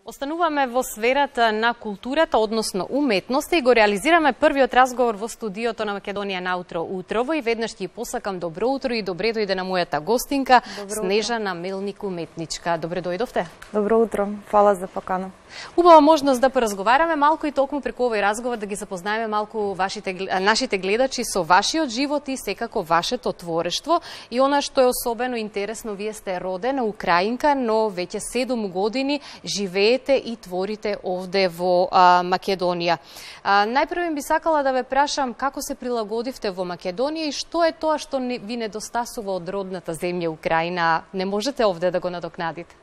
Остануваме во сферата на културата, односно уметноста, и го реализираме првиот разговор во студиото на Македонија наутро утрово, и веднаш ќе посакам добро утро и добре дојде на мојата гостинка, Снежана Мелник, уметничка. Добре дојдовте. Добро утро, фала за покана. Убава можност да поразговараме малку и токму преку овој разговор да ги запознаеме малку нашите гледачи со вашиот живот и секако вашето творештво. И она што е особено интересно, вие сте родена украинка, но веќе 7 години живеете и творите овде во Македонија. Најпрво би сакала да ве прашам како се прилагодивте во Македонија и што е тоа што ви недостасува од родната земја Украина, не можете овде да го надокнадите?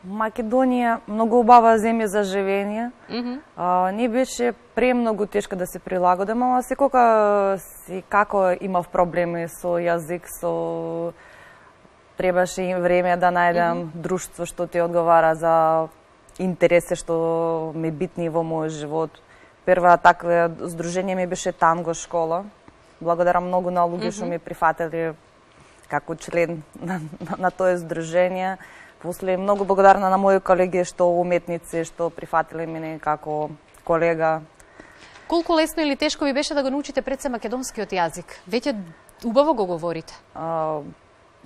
Македонија многу убава земја за живење. Не беше премногу тешко да се прилагодам, ама секоја си како имав проблеми со јазик, со требаше и време да најдам друштво што ти одговара за интереси што ми битни во мојот живот. Прва таква здружение ми беше танго школа. Благодарам многу на луѓе што ми прифатили како член на тоа здружение. После многу благодарна на мои колеги што уметници што прифатиле мене како колега. Колку лесно или тешко ви беше да го научите пред се македонскиот јазик? Веќе убаво го говорите?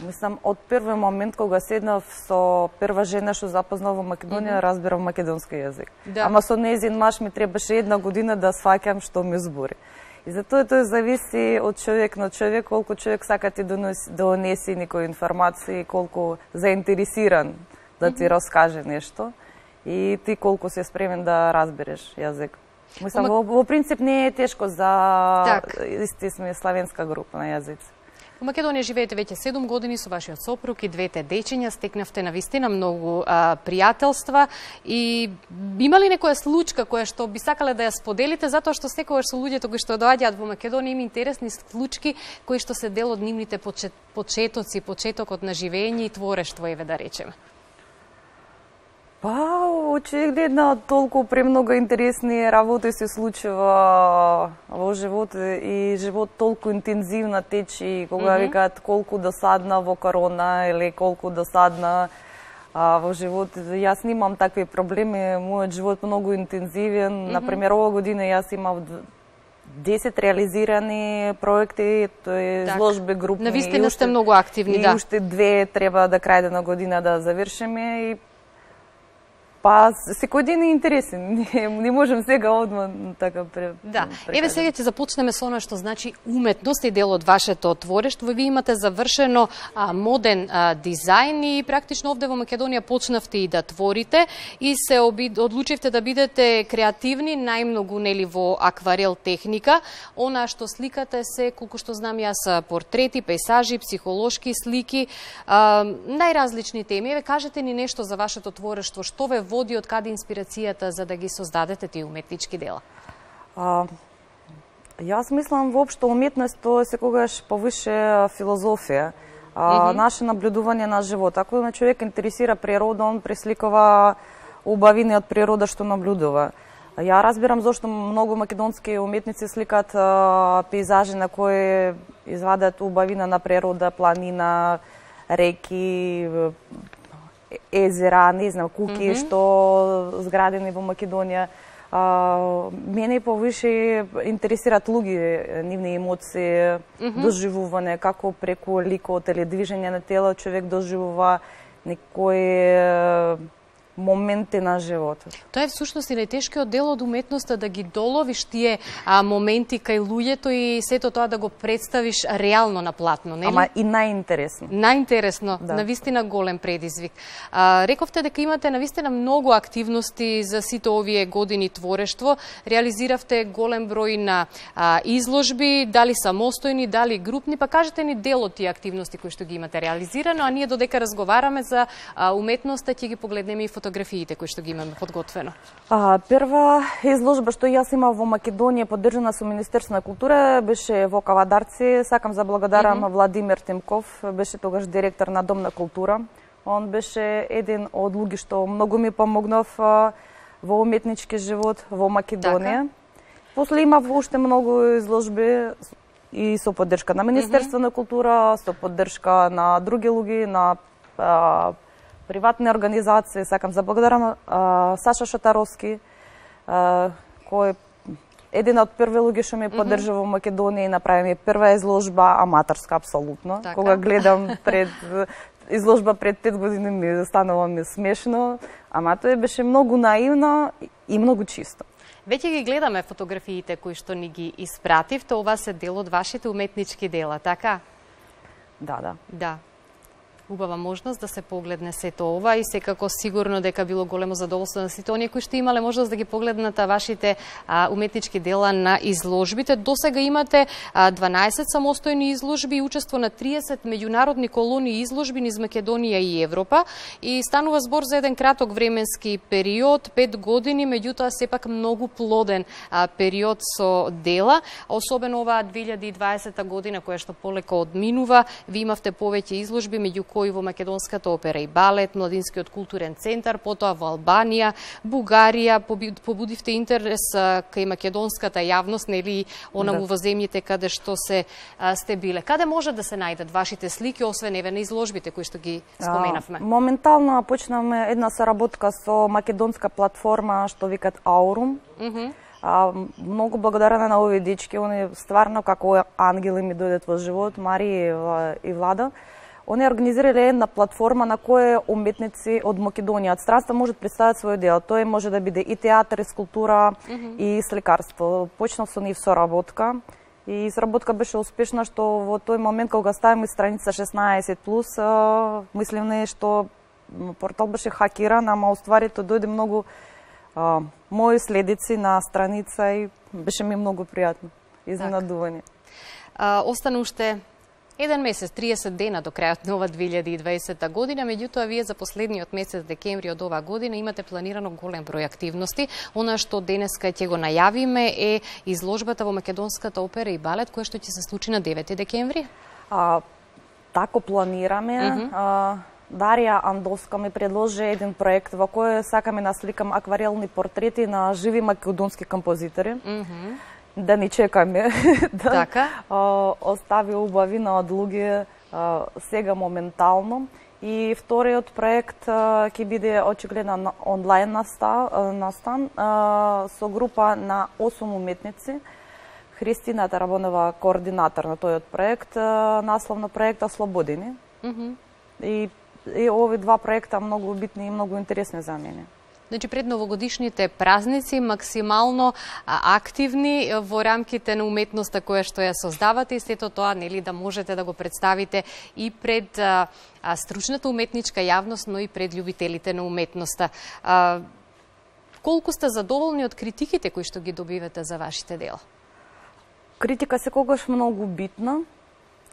Мислам, од први момент кога седнав со прва жена што запознав во Македонија, разбирав македонски јазик. Да. Ама со нејзин маж ми требаше 1 година да сваќам што ми збори. И затоа тоа зависи од човек на човек, колку човек сака ти донеси некоја информација, колку заинтересиран да ти раскаже нешто и ти колку си спремен да разбереш јазик. Мислам, во принцип не е тешко за исти сме славенска група на јазици. Во Македонија живеете веќе 7 години со вашиот сопруг и 2 дечиња, стекнавте навистина многу пријателства и има ли некоја случка која што би сакале да ја споделите, затоа што секогаш со луѓето кои што доаѓаат во Македонија има интересни случки кои што се дел од нивните почетоци, почетокот на живење и творештво, еве да речеме? Па, очигледно толку премногу интересни работи се случува во живот и живот толку интензивно тече, кога викаат колку досадна во корона или колку досадна во живот. Јас немам такви проблеми, мојот живот многу интензивен. Например, ова година јас имав 10 реализирани проекти, тоа е изложби групни. Навистина сте многу активни, да. И уште 2 треба до крај на година да завршиме и па, секој ден е интересен. Не можем сега одма така Да. Еве сега ќе започнеме со она што значи уметност и дел од вашето творештво. Вие имате завршено моден дизајн и практично овде во Македонија почнавте и да творите и се одлучивте да бидете креативни, најмногу нели во акварел техника. Она што сликате се, колку што знам јас, портрети, пейсажи, психолошки слики, најразлични теми. Еве кажете ни нешто за вашето творештво, што ве води, од каде инспирацијата за да ги создадете тие уметнички дела? Јас мислам воопшто уметност тоа секогаш повише филозофија, наше наблюдување на живот. Ако на човек интересира природа, он пресликува убавини од природа што наблюдува. Ја разбирам зошто многу македонски уметници сликаат пейзажи на кои извадат убавина на природа, планина, реки, езера, не знам, куки што зградени во Македонија. Мене повише интересираат луѓе, нивни емоции, доживување, како преку ликот или движење на тело човек доживува некои моменти на животот. Тоа е всушност и најтешкиот дел од уметноста, да ги доловиш тие моменти кај луѓето и сето тоа да го представиш реално на платно, нели? Ама и најинтересно. Најинтересно, навистина голем предизвик. Рековте дека имате навистина многу активности за сите овие години творештво. Реализиравте голем број на изложби, дали самостојни, дали групни, па кажете ни дел од тие активности кои што ги имате реализирано, а ние додека разговараме за уметноста ќе ги погледнеме и фотографиите кои што ги имаме подготвено. Прва изложба што јас имав во Македонија, поддржана со Министерство на култура, беше во Кавадарци. Сакам за благодарам Владимир Тимков, беше тогаш директор на Дом на култура. Он беше еден од луѓе што многу ми помогнав во уметнички живот во Македонија. После имав уште многу изложби и со поддршка на Министерство на култура, со поддршка на други луѓе, на приватни организации. Сакам да благодарам Саша Шатаровски, кој еден од први луѓе што ме поддржува во Македонија и направи ми прва изложба, аматорска апсолутно. Така. Кога гледам изложба пред 5 години ми станало смешно, ама тоа беше многу наивно и многу чисто. Веќе ги гледаме фотографиите кои што ни ги испративте, ова се дел од вашите уметнички дела, така? Да. Да. Убава можност да се погледне сето ова и секако сигурно дека било големо задоволство на сите оние кои што имале можност да ги погледнат вашите уметнички дела на изложбите. Досега имате 12 самостојни изложби и учество на 30 меѓународни колонии изложби низ Македонија и Европа и станува збор за еден краток временски период, 5 години, меѓутоа сепак многу плоден период со дела, особено оваа 2020 година која што полека одминува, ви имавте повеќе изложби меѓу кои во Македонската опера и балет, Младинскиот културен центар, потоа во Албанија, Бугарија, побудивте интерес кај македонската јавност, нели онаму во земјите каде што сте биле. Каде може да се најдат вашите слики, освен еве на изложбите кои што ги споменавме? Моментално почнаме една соработка со македонска платформа што викат Аурум. Многу благодарна на овие дечки, они стварно како ангели ми дојдат во живот, Марија и Влада. Они организирале една платформа на која уметници од Македонија, од странство можат представат свој дел. Тоа може да биде и театар, и скулптура, и сликарство. Почнав со нив соработка и соработка беше успешна, што во тој момент кога ставим страница 16+, мислим што портал беше хакиран, ама уствари тоа дојде многу мои следици на страница и беше ми многу пријатно. Изненадување. Остана уште еден месец, 30 дена до крајот на ова 2020 година, меѓутоа вие за последниот месец декември од оваа година имате планирано голем број активности. Она што денеска ќе го најавиме е изложбата во Македонската опера и балет, која што ќе се случи на 9 декември. Тако планираме. Дарија Андовска ми предложи еден проект во кој сакаме насликам акварелни портрети на живи македонски композитори. Да ни чекаме да остави убавина од луѓе сега моментално. И вториот проект ќе биде очигледно онлайн настан со група на 8 уметници. Христина Тарабонова координатор на тојот проект, наслов на проекта Слободини. И овие два проекта многу битни и многу интересни за мене. Значи, пред новогодишните празници максимално активни во рамките на уметноста која што ја создавате и сето тоа, нели, да можете да го представите и пред стручната уметничка јавност, но и пред љубителите на уметноста. Колку сте задоволни од критиките кои што ги добивате за вашите дела? Критика секогаш многу битна,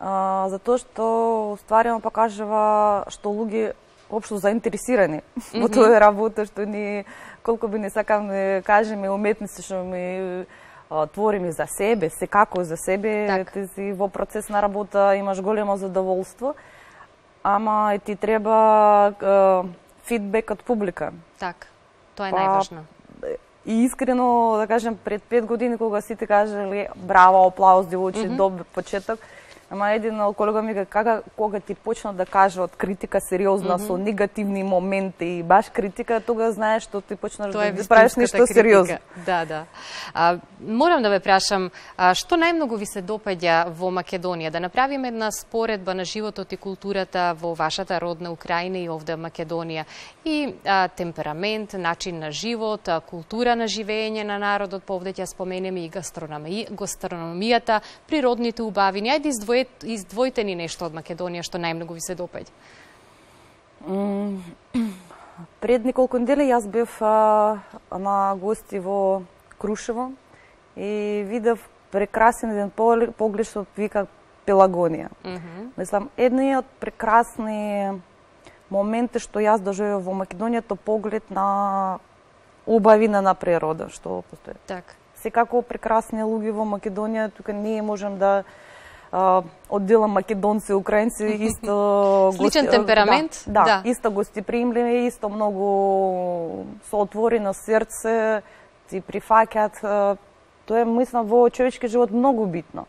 затоа што стварно покажува што луѓе општо заинтересирани во тоа работа, што ни, колку би не сакам да кажеме, уметници што ми твориме за себе, секако за себе, ти си во процес на работа, имаш големо задоволство, ама и ти треба фидбек од публика. Так, тоа е најважно. И искрено, да кажем, пред 5 години, кога сите кажали браво, аплауз, девојче, добар почеток, ама еден колега ми кажа, кога ти почна да кажат критика сериозна со негативни моменти и баш критика, тога знаеш што ти почнаш да правиш нешто сериозно. Да. Морам да ве прашам, што најмногу ви се допаѓа во Македонија? Да направиме една споредба на животот и културата во вашата родна Украина и овде Македонија. И темперамент, начин на живот, култура на живење на народот, повде ќе споменеме и гастрономијата, природните убавини. Ајде издвојте ни нешто од Македонија што најмногу ви се допаѓа. Пред неколку недели јас бев на гости во Крушево и видев прекрасен еден поглед што вика Пелагонија. Мислам, едниот прекрасни моменти што јас доживеав во Македонија, тоа поглед на убавина на природа што постои. Так. Секако прекрасни луѓе во Македонија, тука ние можем да одделам македонци, украинци, исто сличен темперамент, да, исто гостепримливи, исто многу соотворено срце, ти прифаќаат. Тоа е, мислам, во човечки живот многу битно.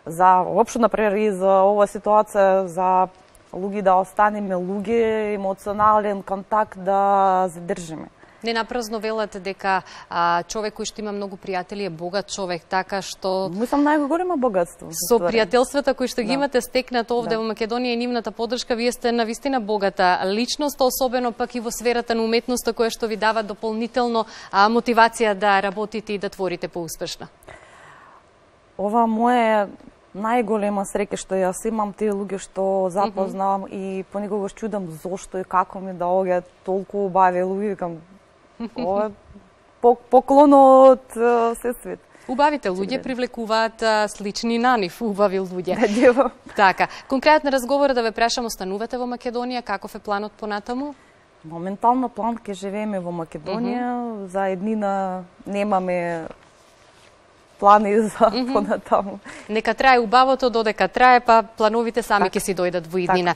За општо, например, и за ова ситуација, за луѓе да останеме луѓе, емоционален контакт да задржиме. Не напразно велате дека човек кој што има многу пријатели е богат човек, така што... Мислам најголемо богатство. Со пријателствата кои што ги имате стекнат овде во Македонија и нивната поддршка, вие сте навистина богата личност, особено пак и во сферата на уметноста која што ви дава дополнително мотивација да работите и да творите поуспешно. Ова моја најголема среќа што јас имам тие луѓе што запознавам и понекогаш чудам зошто и како ми доаѓаат толку убави луѓе, викам ова поклон од се свет. Убавите луѓе привлекуваат слични на нив, убави луѓе. Да, така, конкретно разговор да ве прашам, останувате во Македонија, каков е планот понатаму? Моментално план ке живееме во Македонија, за еднина немаме плани за понатаму. Нека трае убавото додека трае, па плановите сами ќе си дојдат во иднина.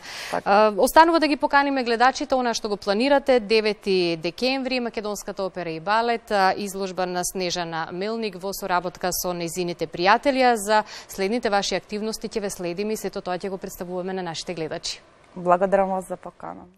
Останува да ги поканиме гледачите она што го планирате 9 декември Македонската опера и балет, изложба на Снежана Мелник во соработка со нејзините пријатели. За следните ваши активности ќе ве следиме и сето тоа ќе го представуваме на нашите гледачи. Благодарам вас за покана.